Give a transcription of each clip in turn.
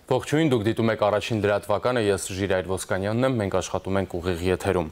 Ողջույն, դուք դիտում եք առաջին լրատվականը, ես Ժիրայր Ոսկանյանն եմ, մենք աշխատում ենք ուղիղ եթերում։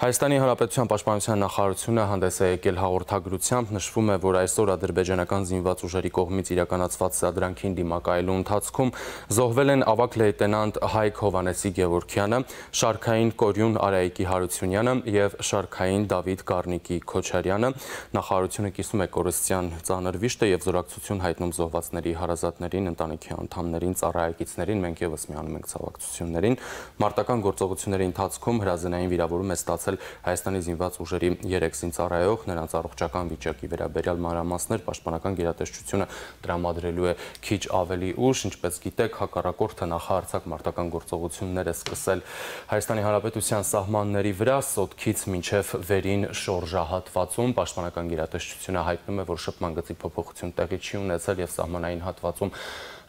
Հայաստանի Հանրապետության Պաշտպանության նախարարությունը հանդես է եկել հաղորդագրությամբ, նշվում է, որ այսօր ադրբեջանական զինված ուժերի կողմից իրականացված սադրանքին դիմակայելու ընթացքում զոհվել են ավագ լեյտենանտ Հայկ Հովհաննեսի Գևորգյանը, շարքային Կորյուն Արայիկի Հարությունյանը եւ շարքային Դավիթ Գառնիկի Քոչարյանը։ Նախարարությունը կիսում է կորստյան ծանր վիշտը եւ զորակցություն հայտնում զոհվածների հարազատներին, ընտանիքի անդամներին, ծառայեկիցներին, մենք եւս միանում ենք ցավակցություններին։ Մարտական գործողությունների ընթացքում հրազենային վիրավորում է ստացել Հայաստանի զինված ուժերի 3 զինծառայող, նրանց առողջական վիճակի վերաբերյալ մանրամասներ պաշտպանական գերատեսչությունը տրամադրելու է քիչ ավելի ուշ, ինչպես գիտեք, հակառակորդը նախահարձակ մարտական գործողություններ է սկսել Հայաստանի Հանրապետության սահմանների վրա, Սոտքից մինչև վերին շորժահատվածում, պաշտպանական գերատեսչությունը հայտնում է, որ շփման գծի փոփոխություն տեղի չի ունեցել եւ սահմանային հատվածում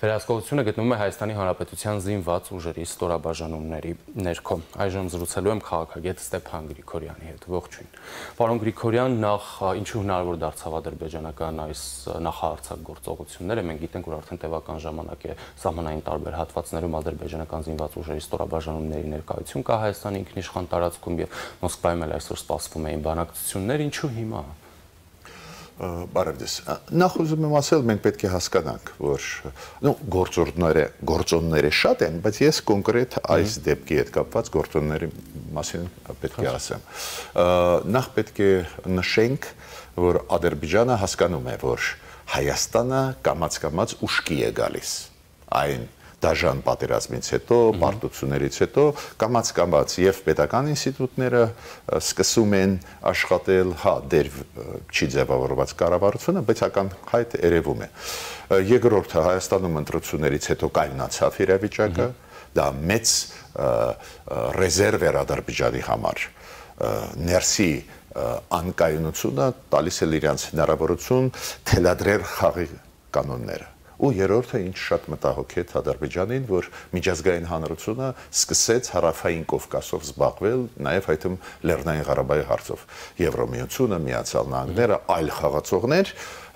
վերահսկողությունը գտնվում է Հայաստանի Հանրապետության զինված ուժերի ստորաբաժանումների ներքո։ Այժմ զրուցելու եմ քաղաքագետ Ստեփան Գրիգորյանի հետ։ Ողջույն։ Պարոն Գրիգորյան, նախ ինչու հնարավոր դարձավ ադրբեջանական այս նախահարձակ գործողությունները։ Մենք գիտենք, որ արդեն տևական ժամանակ է սահմանային տարբեր հատվածներում ադրբեջանական զինված ուժերի ստորաբաժանումների ներկայություն կա Հայաստանի ինքնիշխան տարածքում եւ Մոսկվայում էլ այսօր սպասվում էին բանակցություններ, ինչու հիմա։ Բարև ձեզ։ Նախ ուզում եմ ասել, մենք պետք է հասկանանք, որ գործոնները շատ են, բայց ես կոնկրետ այս դեպքի հետ կապված գործոնների մասին պետք է ասեմ։ Նախ պետք է նշենք, որ Ադրբեջանը հասկանում է, որ Հայաստանը կամաց-կամաց ուշքի է գալիս։ Այն դաժան պատերազմից հետո, պարտություններից հետո կամաց-կամաց եւ պետական ինստիտուտները սկսում են աշխատել, դեր չի ձևավորված կառավարությունը, բայց ակնհայտ երևում է։ Երկրորդը Հայաստանում ընտրություններից հետո կայունացավ իրավիճակը, դա մեծ ռեզերվ էր Ադրբեջանի համար։ Ներսի անկայունությունը տալիս է իրենց հնարավորություն թելադրել խաղի կանոնները։ Ու երրորդը ինչ շատ մտահոգետ Ադրբեջանին, որ միջազգային հանրությունը սկսեց հարավային Կովկասով զբաղվել, նաև այդմ Լեռնային Ղարաբաղի հարցով։ Եվրոմիությունը, Միացյալ Նահանգները, այլ խաղացողներ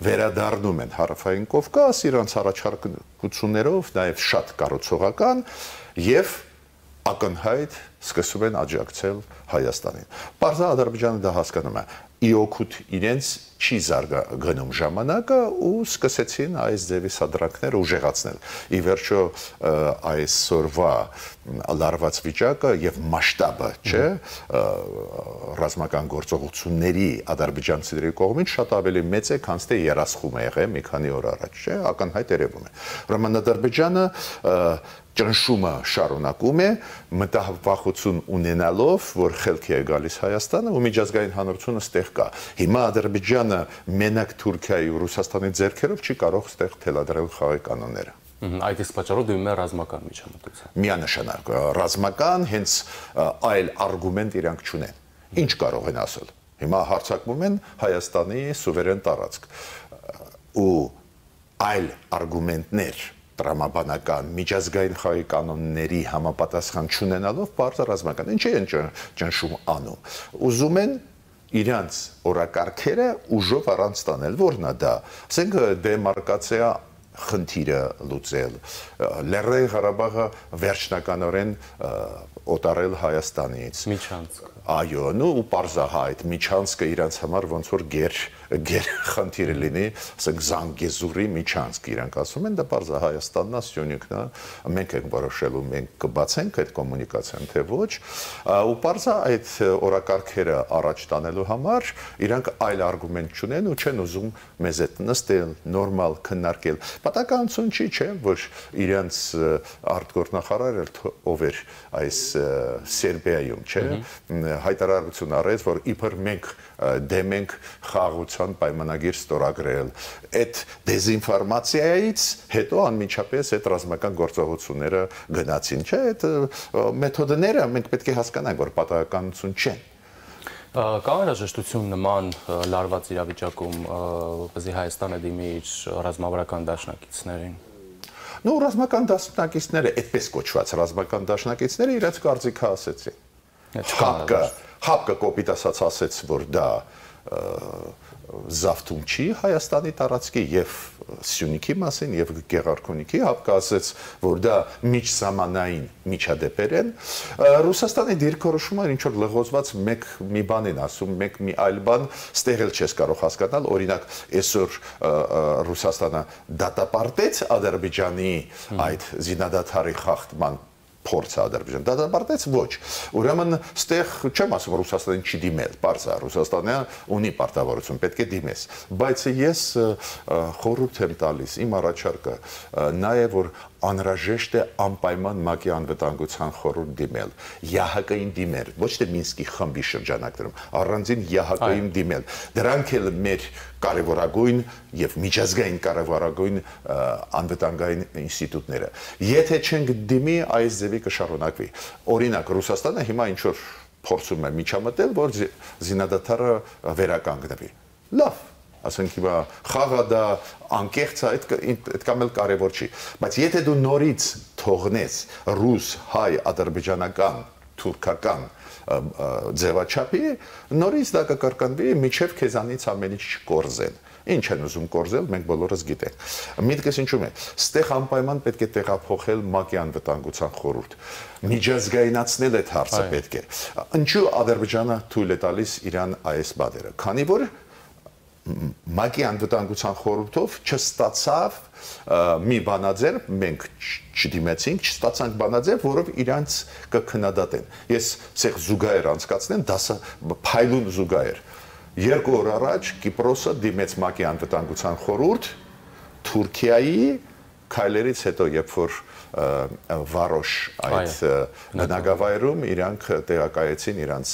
վերադառնում են հարավային Կովկաս իրանց առաջարկություններով, նաև շատ կառուցողական եւ ակնհայտ սկսում են աջակցել Հայաստանին։ Պարզա Ադրբեջանը դա հասկանում է։ Իօքուտ իրենց չի զարգանում ժամանակը ու սկսեցին այս ձևի սադրանքները ուժեղացնել։ Ի վերջո այսօրվա լարված վիճակը եւ մասշտաբը, չէ, ռազմական գործողությունների ադրբեջանցիների կողմից շատ ավելի մեծ է, քան թե երասխում է եղել մի քանի օր առաջ, չէ, ակնհայտ երևում է։ Ուրեմն Ադրբեջանը ճնշումը շարունակում է, մտահոգություն ունենալով, որ խելքի է գալիս Հայաստանը ու միջազգային հանրությունը ստեղ կա։ Հիմա Ադրբեջանը մենակ Թուրքիայի ու Ռուսաստանի ձեռքերով չի կարող ստեղ թելադրել խաղի կանոնները։ Այդ իսկ պատճառով դիմում է ռազմական միջամտության։ Միանշանակ ռազմական, հենց այլ արգումենտ իրանք չունեն։ Ինչ կարող են ասել։ Հիմա հարձակվում են Հայաստանի սուվերեն տարածք ու այլ արգումենտներ տրամաբանական միջազգային խաղի կանոնների համապատասխան չունենալով բարձր ռազմական ինչ են ճնշում անում։ Ուզում են իրանց օրակարգերը ուժով առանց տանել, որն է դա։ Ասենք դեմարկացիա խնդիրը լուծել, Լեռնային Ղարաբաղը վերջնականորեն օտարել Հայաստանից։ Միջանցք։ Այո, ու պարզահայտ միջանցքը իրանց համար ոնց որ գեր խնդիրը լինի, ասենք Զանգեզուրի միջանցք իրանք ասում են, դա պարզա Հայաստանն է, Սյունիքն է, մենք ենք որոշելու, մենք կբացենք այդ կոմունիկացիան, թե ոչ, ու պարզա այդ օրակարգերը առաջ տանելու համար իրանք այլ արգումենտ չունեն ու չեն ուզում մեզ հետ նստել, նորմալ քննարկել։ Պատահականություն չի, չէ, որ իրանց արտգործնախարարը ով էր այս Սերբիայում, չէ, հայտարարություն արեց, որ իբր մենք դեմ ենք խաղաղության պայմանագիր ստորագրել։ Այդ դեզինֆորմացիայից հետո անմիջապես այդ ռազմական գործողությունները գնացին, չէ, այդ մեթոդները մենք պետք է հասկանանք, որ պատահականություն չեն։ Կա անհրաժեշտություն նման լարված իրավիճակում, որպեսզի Հայաստանը դիմի իր ռազմավարական դաշնակիցներին։ Ռազմական դաշնակիցները, այդպես կոչված ռազմական դաշնակիցները իրենց կարծիքը ասեցին։ Հապկը կոպիտ ասաց, որ դա զավթում չի Հայաստանի տարածքի եւ Սյունիքի մասին եւ Գեղարքունիքի հապկը ասեց, որ դա միջսահմանային միջադեպեր են, Ռուսաստանի դիրքորոշումը ինչ որ լղոզված մի բան են ասում, մի այլ բան ստեղ էլ չես կարող հասկանալ, օրինակ այսօր Ռուսաստանը դատապարտեց Ադրբեջանի այդ զինադադարի խախտման փորձը Ադրբեջան դատապարտեց ոչ ուրեմն ստեղ չեմ ասում Ռուսաստանին չի դիմել բարձ է Ռուսաստանը ունի պարտավորություն պետք է դիմես բայց ես խորհուրդ եմ տալիս իմ առաջարկը նա է որ անհրաժեշտ է անպայման ՄԱԿ-ի անվտանգության խորհուրդ դիմել ԵԱՀԿ-ին դիմել ոչ թե Մինսկի խմբի շրջանակներում առանձին ԵԱՀԿ-ին դիմել դրանք էլ մեր կարևորագույն եւ միջազգային կարևորագույն անվտանգային ինստիտուտները եթե չենք դիմի այս ձևի կշարունակվի օրինակ Ռուսաստանը հիմա ինչ որ փորձում է միջամտել որ զինադադարը վերականգնվի լավ ասենք հիմա խաղը դա անկեղծ է այդքան էլ կարևոր չի բայց եթե դու նորից թողնես ռուս հայ ադրբեջանական թուրքական ձևաչափի նորից դա կկրկնվի միջև քեզանից ամեն ինչ չկորզեն ինչ են ուզում կորզել մենք բոլորս գիտենք միտքս ինչու՞մ է ստեղ անպայման պետք է տեղափոխել ՄԱԿ-ի անվտանգության խորհուրդ միջազգայնացնել այդ հարցը պետք է ինչու Ադրբեջանը թույլ է տալիս իրան այս բաները քանի որ ՄԱԿ-ի անվտանգության խորհրդով չստացավ մի բանաձև մենք չդիմեցինք չստացանք բանաձև որով իրանց կքննադատեն ես ցեղ զուգահեռ անցկացնեմ դասը փայլուն զուգահեռ 2 օր առաջ Կիպրոսը դիմեց ՄԱԿ-ի անվտանգության խորհուրդ Թուրքիայի քայլերից հետո երբ որ Վարոշ այդ բնակավայրում իրանք տեղակայեցին իրանց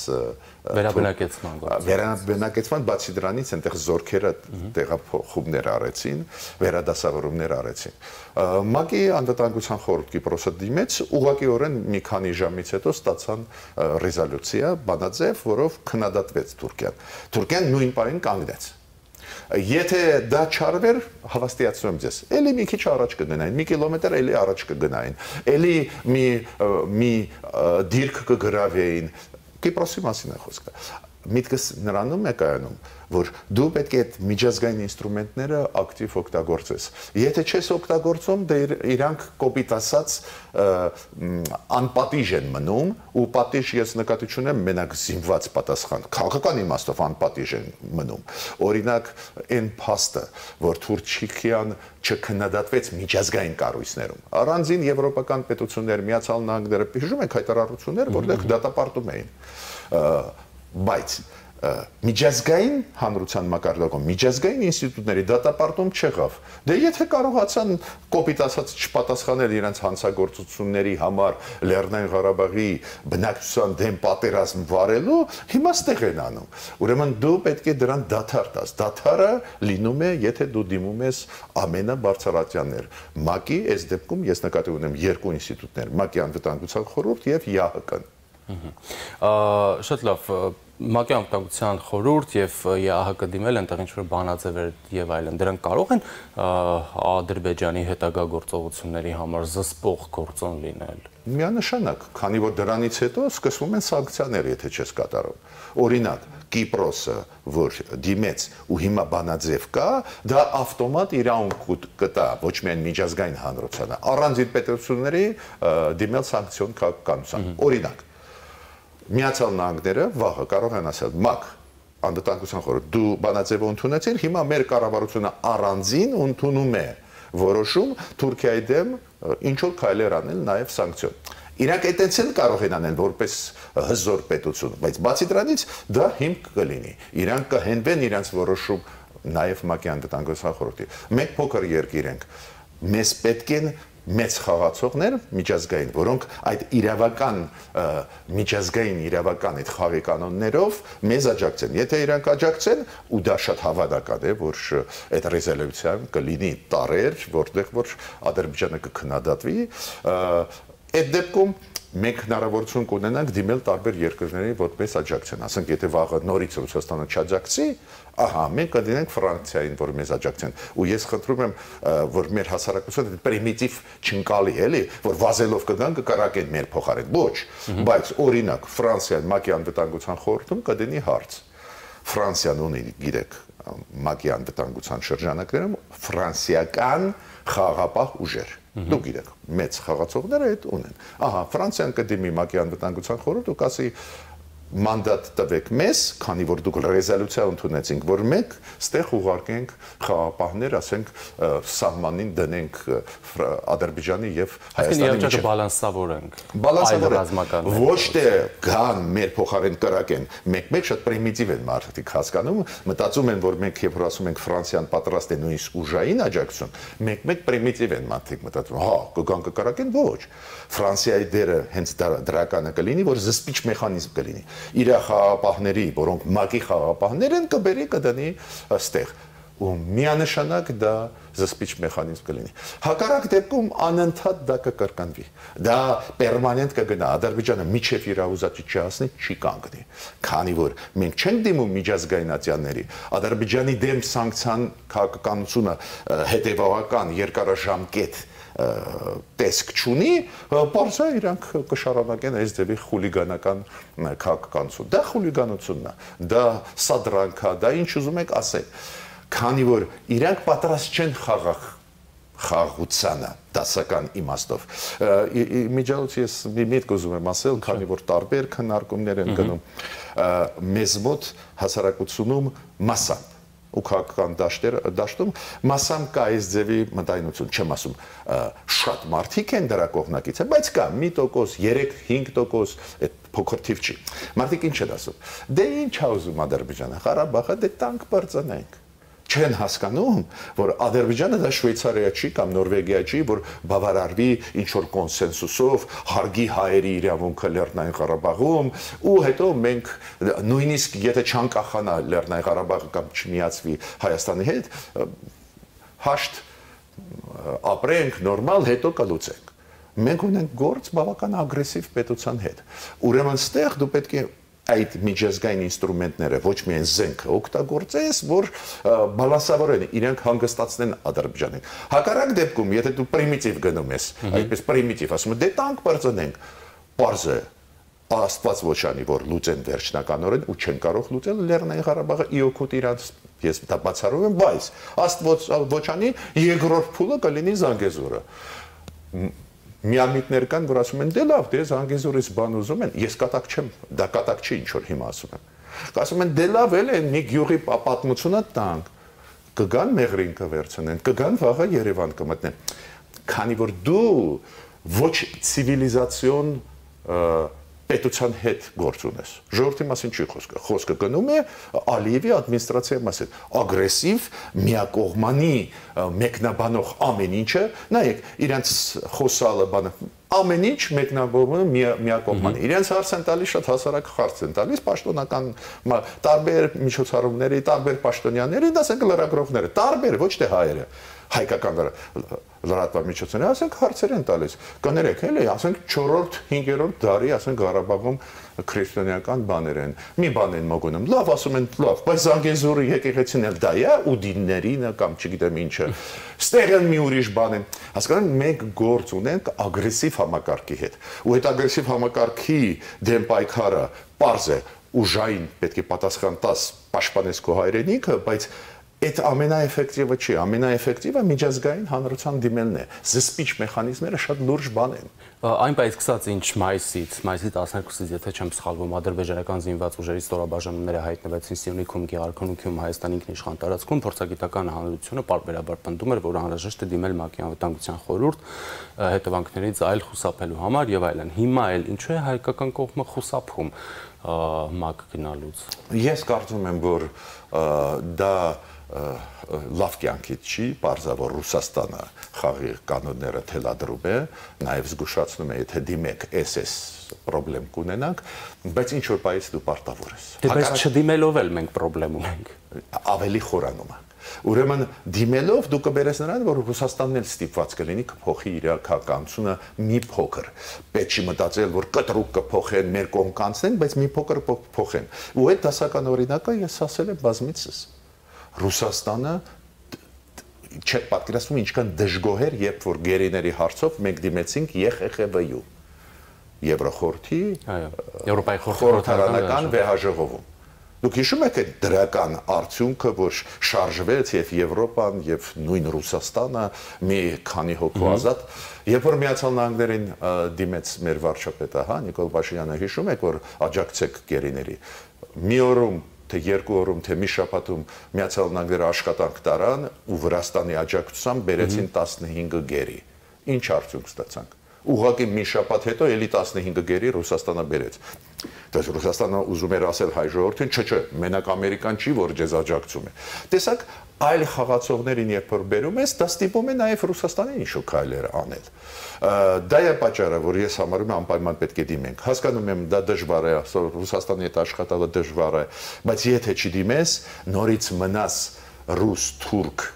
վերաբնակեցման բացի դրանից այնտեղ զորքերը տեղափոխումներ արեցին վերադասավորումներ արեցին ՄԱԿ-ի անվտանգության խորհուրդ Կիպրոսը դիմեց ուղղակիորեն մի քանի ժամից հետո ստացան ռեզոլյուցիա բանաձև որով քննադատվեց Թուրքիան նույն պահին կանգնեց Եթե դա չարվեր, հավաստիացնում եմ ձեզ, էլի մի քիչ առաջ կգնային, մի կիլոմետր էլի առաջ կգնային, էլի մի դիրք կգրավեին, Կիպրոսի մասին է խոսքը, միտքս նրանում է կայանում, որ դու պետք է այդ միջազգային ինստրումենտները ակտիվ օգտագործես, եթե չես օգտագործում, դե իրանք կոպիտ ասած անպատիժ են մնում, ու պատիժ ես նկատի չունեմ մենակ զինված պատասխան, քաղաքական իմաստով անպատիժ են մնում, օրինակ այն փաստը, որ Թուրքիան չքննադատվեց միջազգային կառույցներում, առանձին եվրոպական պետություններ, Միացյալ Նահանգները, հիշում եք հայտարարություններ, որտեղ դատապարտում էին, բայց միջազգային հանրության մակարդակում միջազգային ինստիտուտների դատապարտում չեղավ դե եթե կարողացան կոպիտ ասած չպատասխանել իրենց հանցագործությունների համար Լեռնային Ղարաբաղի բնակչության դեմ պատերազմ վարելու հիմա ստեղ են անում ուրեմն դու պետք է դրան դադար տաս դադարը լինում է եթե դու դիմում ես ամենաբարձրատյաններ ՄԱԿ-ի այս դեպքում ես նկատի ունեմ երկու ինստիտուտներ ՄԱԿ-ի անվտանգության խորհուրդ եւ ԵԱՀԿ-ն Շատ լավ ՄԱԿ-ի անվտանգության խորհուրդ եւ ԵԱՀԿ դիմել այնտեղ ինչ-որ բանաձևեր եւ այլն դրանք կարող են Ադրբեջանի հետագա գործողությունների համար զսպող գործոն լինել Միանշանակ, քանի որ դրանից հետո սկսվում են սանկցիաներ, եթե չես կատարում օրինակ Կիպրոսը, որ դիմեց ու հիմա բանաձև կա, դա ավտոմատ իրավունք կտա ոչ միայն միջազգային հանրությանը, առանձին պետությունների դիմել սանկցիոն քաղաքականության օրինակ Միացյալ Նահանգները վաղը կարող են ասել ՄԱԿ անվտանգության խորհուրդ դու բանաձևը ընդունեցիր հիմա մեր կառավարությունը առանձին ընդունում է որոշում Թուրքիայի դեմ ինչ որ քայլեր անել նաև սանկցիոն Իրանք այդտենց էլ կարող են անել որպես հզոր պետություն բայց բացի դրանից դա հիմք կլինի իրանք կհենվեն իրանց որոշում նաև ՄԱԿ-ի անվտանգության խորհրդի մենք փոքր երկիր ենք մեզ պետք են մեծ խաղացողներ միջազգային, որոնք այդ իրավական միջազգային իրավական այդ խաղի կանոններով մեզ աջակցեն։ Եթե իրանք աջակցեն, ու դա շատ հավանական է, որ այդ ռեզոլյուցիան կլինի տարեր, որտեղ որ Ադրբեջանը կքննադատվի, այդ դեպքում մենք հնարավորություն կունենանք դիմել տարբեր երկրների որպես աջակցեն, ասենք եթե վաղը նորից Ռուսաստանը չաջակցի, ահա մենք կդինենք Ֆրանսիային, որ մեզ աջակցեն, ու ես խնդրում եմ, որ մեր հասարակությունը պրիմիտիվ չընկալի, էլի, որ վազելով կգան կկարակեն մեր փոխարեն, ոչ, բայց օրինակ Ֆրանսիան ՄԱԿ-ի անվտանգության խորհրդում կդնի հարց, Ֆրանսիան ունի, գիտեք, ՄԱԿ-ի անվտանգության շրջանակներում ֆրանսիական խաղաղապահ ուժեր։ Դուք գիտեք, մեծ խաղացողները այդ ունեն։ Ահա, Ֆրանսիան կդիմի ՄԱԿ-ի անվտանգության խորհուրդ ու կասի մանդատ տվեք մեզ, քանի որ դուք ռեզոլյուցիա ընդունեցինք, որ մենք ստեղ ուղարկենք խաղապահներ, ասենք, սահմանին դնենք Ադրբեջանի եւ Հայաստանի միջեւ։ Բալանսավորենք։ Բալանսավորենք։ Ոչ թե գան մեր փոխարեն կրակեն։ Մեկ-մեկ շատ պրիմիտիվ են մարդիկ հասկանում, մտածում են, որ մենք երբ ասում ենք Ֆրանսիան պատրաստ է նույնիսկ ուժային աջակցություն, մեկ-մեկ պրիմիտիվ են մարդիկ մտածում, հա, կգան կկրակեն, ոչ։ Ֆրանսիայի դերը հենց դրականը կլինի, որ զսպիչ մեխանիզմ կլինի։ Իր խաղապահների, որոնք ՄԱԿ-ի խաղապահներ են, կբերի կդնի ստեղ ու միանշանակ դա զսպիչ մեխանիզմ կլինի։ Հակառակ դեպքում անընդհատ դա կկրկնվի։ Դա պերմանենտ կգնա, Ադրբեջանը միջև իր ուզածի չհասնի, չի կանգնի։ Քանի որ մենք չենք դիմում միջազգայնացիաների, Ադրբեջանի դեմ սանկցիան քաղաքականությունը հետևողական երկարաժամկետ տեսք չունի, բարձր իրանք կշարունակեն այս ձևի խուլիգանական քաղաքականություն։ Դա խուլիգանությունն է, դա սադրանք է, դա ինչ ուզում եք ասել։ Քանի որ իրանք պատրաստ չեն խաղաղությանը դասական իմաստով։ Միջալուց ես մի միտք ուզում եմ ասել, քանի որ տարբեր քննարկումներ են գնում, մեզ մոտ հասարակությունում մասամբ ու քաղաքական դաշտում մասամբ կա այս ձևի մտայնություն, չեմ ասում շատ մարդիկ են դրա կողմնակից, բայց կա մի տոկոս, 3-5% այդ փոքր թիվ չի։ Մարդիկ ինչ են ասում։ Դե ինչ է ուզում Ադրբեջանը, Ղարաբաղը դե տանկ բարձրանենք։ Չեն հասկանում, որ Ադրբեջանը դա Շվեյցարիա չի կամ Նորվեգիա չի, որ բավարարվի ինչ-որ կոնսենսուսով, հարգի հայերի իրավունքը Լեռնային Ղարաբաղում, ու հետո մենք նույնիսկ եթե չանկախանա Լեռնային Ղարաբաղը կամ չմիացվի Հայաստանի հետ, հաշտ ապրենք, նորմալ, հետո կլուծենք։ Մենք ունենք գործ բավական ագրեսիվ պետության հետ։ Ուրեմն ստեղ դու պետք է այդ միջազգային ինստրումենտները ոչ միայն զենքը օգտագործես, որ բալանսավորեն, իրենք հանգստացնեն Ադրբեջանին։ Հակառակ դեպքում, եթե դու պրիմիտիվ գնում ես, այդպես պրիմիտիվ ասում ես, դե տանկ բարձրանենք, պարզ է, Աստված ոչանի, որ լուծեն վերջնականորեն ու չեն կարող լուծել Լեռնային Ղարաբաղը իօքուտ իրանց, ես դա բացառում եմ, բայց Աստված ոչանի երկրորդ փուլը կլինի Զանգեզուրը։ Միամիտներ կան, որ ասում են, դե լավ, դե Զանգեզուրից բան ուզում են, ես կատակ չեմ, դա կատակ չի, ինչ որ հիմա ասում եմ։ Ասում են, դե լավ էլ են, մի գյուղի պատմությունը տանք, կգան Մեղրին կվերցնեն, կգան վաղը Երևան կմտնեն։ Քանի որ դու ոչ ցիվիլիզացիոն պետության հետ գործ ունես։ Ժողովրդի մասին չի խոսքը։ Խոսքը գնում է Ալիևի ադմինիստրացիայի մասին։ Ագրեսիվ, միակողմանի, մեկնաբանող ամեն ինչը, նայեք, իրենց խոսալը բանը, ամեն ինչ մեկնաբանում միակողմանի։ Իրենց հարց են տալիս, շատ հասարակ հարց են տալիս, պաշտոնական տարբեր միջոցառումների, տարբեր պաշտոնյաների, ասենք լրագրողները, տարբեր, ոչ թե հայերը, հայկական լրատվական միջոցները, ասենք հարցեր են տալիս։ Կներեք, էլի, ասենք 4-րդ, 5-րդ դարի, ասենք Ղարաբաղում քրիստոնեական բաներ են։ Մի բան են մոգոնում։ Լավ, ասում են, լավ, բայց Զանգեզուրի եկեղեցին էլ դա է, ուդիններին կամ չգիտեմ ինչը։ Ստեղ էլ մի ուրիշ բան են։ Հասկանում, մենք գործ ունենք ագրեսիվ համակարգի հետ։ Ու այդ ագրեսիվ համակարգի դեմ պայքարը պարզ է, ուժային պետք է պատասխան տաս, պաշտպանես քո հայրենիքը, բայց այդ ամենաէֆեկտիվը չի, ամենաէֆեկտիվը միջազգային հանրության դիմելն է։ Զսպիչ մեխանիզմները շատ լուրջ բան են։ Այն բայց սկսած ինչ մայիսի 12-ից, եթե չեմ սխալվում, ադրբեջանական զինված ուժերի ստորաբաժանումները հայտնվեցին Սյունիքում, Գեղարքունիքում, Հայաստանի ինքնիշխան տարածքում, փորձագիտական հանրությունը պարբերաբար պնդում էր, որ անհրաժեշտ է դիմել ՄԱԿ-ի անվտանգության խորհուրդ հետևանքներից այլ խուսափելու համար եւ այլն։ Հիմա էլ ինչու է հայկական կողմը խուսափում ՄԱԿ գնալուց։ Ես կարծում եմ, որ դա լավ կյանքից չի, պարզավոր Ռուսաստանը խաղի կանոնները թելադրում է, նաև զգուշացնում է, եթե դիմեք SS պրոբլեմ կունենանք, բայց ինչ որ պայից դու պարտավոր ես։ Դե բայց չդիմելով էլ մենք պրոբլեմ ունենք։ Ավելի խորանում է։ Ուրեմն դիմելով դու կբերես նրան, որ Ռուսաստանն էլ ստիպված կլինի կփոխի իր քաղաքականությունը մի փոքր։ Պետք չի մտածել, որ կտրուկ կփոխեն, մեր կողմ կանցնեն, բայց մի փոքր փոխեն։ Ու այդ դասական օրինակը ես ասել եմ բազմիցս։ Ռուսաստանը չեք պատկերացնում ինչքան դժգոհ էր, երբ որ գերիների հարցով մենք դիմեցինք ԵԽԽՎ-յու Եվրոխորհրդի Եվրոպայի խորհրդարանական վեհաժողովում։ Դուք հիշում եք այդ դրական արդյունքը, որ շարժվեց եւ Եվրոպան եւ նույն Ռուսաստանը մի քանի հոգու ազատ, երբ որ Միացյալ Նահանգներին դիմեց մեր վարչապետը, հա, Նիկոլ Փաշինյանը, հիշում եք, որ աջակցեք գերիների։ Մի օրում թե երկու օրում, թե մի շաբաթում Միացյալ Նահանգները աշխատանք տարան ու Վրաստանի աջակցությամբ բերեցին 15 գերի։ Ինչ արդյունք ստացանք։ Ուղղակի մի շաբաթ հետո էլի 15 գերի Ռուսաստանը բերեց։ Դες Ռուսաստանը ուզում էր ասել հայ ժողովրդին, չէ, մենակ Ամերիկան չի, որ ձեզ աջակցում է։ Տեսակ, այլ խաղացողներին երբ որ բերում ես, դա ստիպում է նաև Ռուսաստանին ինչ-որ քայլեր անել։ Դա է պատճառը, որ ես համարում եմ անպայման պետք է դիմենք։ Հասկանում եմ, դա դժվար է, Ռուսաստանի հետ աշխատելը դժվար է, բայց եթե չդիմես, նորից մնաս ռուս, թուրք,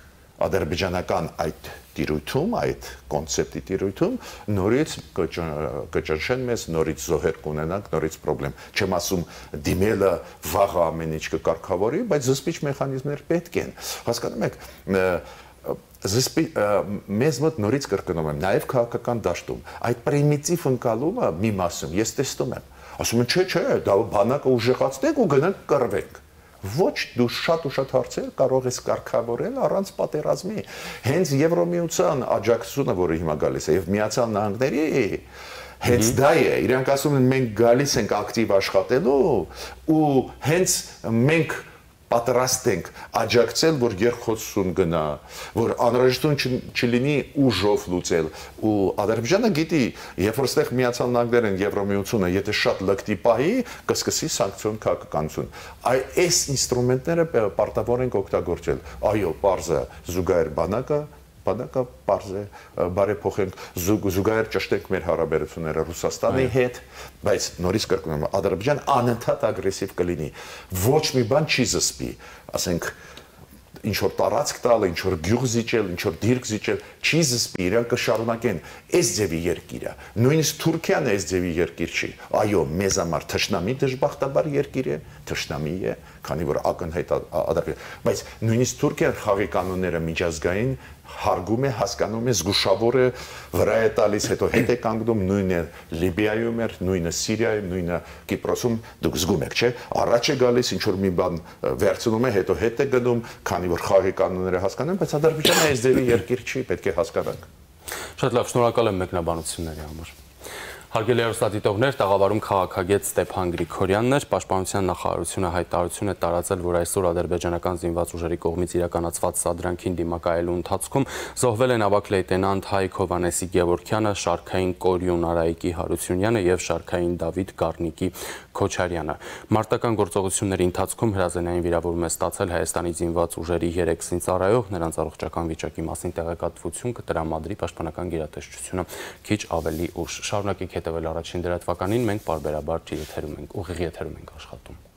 ադրբեջանական այդ տիրույթում, այդ կոնցեպտի տիրույթում, նորից կճնշեն մեզ, նորից զոհեր կունենանք, նորից պրոբլեմ։ Չեմ ասում դիմելը վաղը ամեն ինչ կկարգավորի, բայց զսպիչ մեխանիզմներ պետք են։ Հասկանում եք, մեզ մոտ նորից կրկնում եմ, նաև քաղաքական դաշտում, այդ պրիմիտիվ ընկալումը մի մասում ես տեսնում եմ։ Ասում են, չէ, դա բանակը ուժեղացնենք ու գնանք կռվենք։ Ոչ, դու շատ ու շատ հարցեր կարող ես կարգավորել առանց պատերազմի։ Հենց Եվրոմիության աջակցությունը, որը հիմա գալիս է, եւ Միացյալ Նահանգների, հենց դա է։ Իրանք ասում են, մենք գալիս ենք ակտիվ աշխատելու ու հենց մենք պատրաստ ենք աջակցել, որ երկխոսություն գնա, որ անհրաժեշտություն չլինի ուժով լուծել։ Ու Ադրբեջանը գիտի, երբ որ ստեղ Միացյալ Նահանգներն Եվրոմիությունը, եթե շատ լկտի պահի, կսկսի սանկցիոն քաղաքականություն։ Այս ինստրումենտները պարտավոր ենք օգտագործել։ Այո, պարզը զուգահեռ բանակը պարզ է, բարեփոխենք, զուգահեռ ճշտենք մեր հարաբերությունները Ռուսաստանի հետ, բայց նորից կրկնում եմ, Ադրբեջան անընդհատ ագրեսիվ կլինի։ Ոչ մի բան չի զսպի, ասենք, ինչ որ տարածք տալ, ինչ որ գյուղ զիջել, ինչ որ դիրք զիջել, չի զսպի, իրանք կշարունակեն այս ձևի երկիրը։ Նույնիսկ Թուրքիան այս ձևի երկիր չի։ Այո, մեզ համար թշնամի դժբախտաբար երկիր է, թշնամի է, քանի որ ակնհայտ Ադրբեջան, բայց նույնիսկ Թուրքիան խաղի կանոնները միջազգային հարգում է, հասկանում է, զգուշավոր է, վրա է տալիս, հետո հետ է կանգնում, նույնը Լիբիայում էր, նույնը Սիրիայում, նույնը Կիպրոսում, դուք զգում եք, չէ՞, առաջ է գալիս, ինչ որ մի բան վերցնում է, հետո հետ է գնում, քանի որ խաղի կանոնները հասկանում, բայց Ադրբեջանը այս ձևի երկիր չի, պետք է հասկանանք։ Շատ լավ, շնորհակալ եմ մեկնաբանությունների համար։ Հարգելի հեռուստադիտողներ, տաղավարում քաղաքագետ Ստեփան Գրիգորյանն էր, Պաշտպանության նախարարությունը հայտարարություն է տարածել, որ այսօր ադրբեջանական զինված ուժերի կողմից իրականացված սադրանքին դիմակայելու ընթացքում զոհվել են ավագ լեյտենանտ Հայկ Հովհաննեսի Գևորգյանը, շարքային Կորյուն Արայիկի Հարությունյանը եւ շարքային Դավիթ Գառնիկի Քոչարյանը։ Մարտական գործողությունների ընթացքում հրազենային վիրավորում է ստացել Հայաստանի զինված ուժերի 3 զինծառայող, նրանց առողջական վիճակի մասին տեղեկատվություն կտրամադրի Պաշտպանական գերատեսչությունը քիչ ավելի ուշ։ Շարունակեք հետևել Առաջին դրատվականին, մենք պարբերաբար ուղիղ եթերում ենք աշխատում։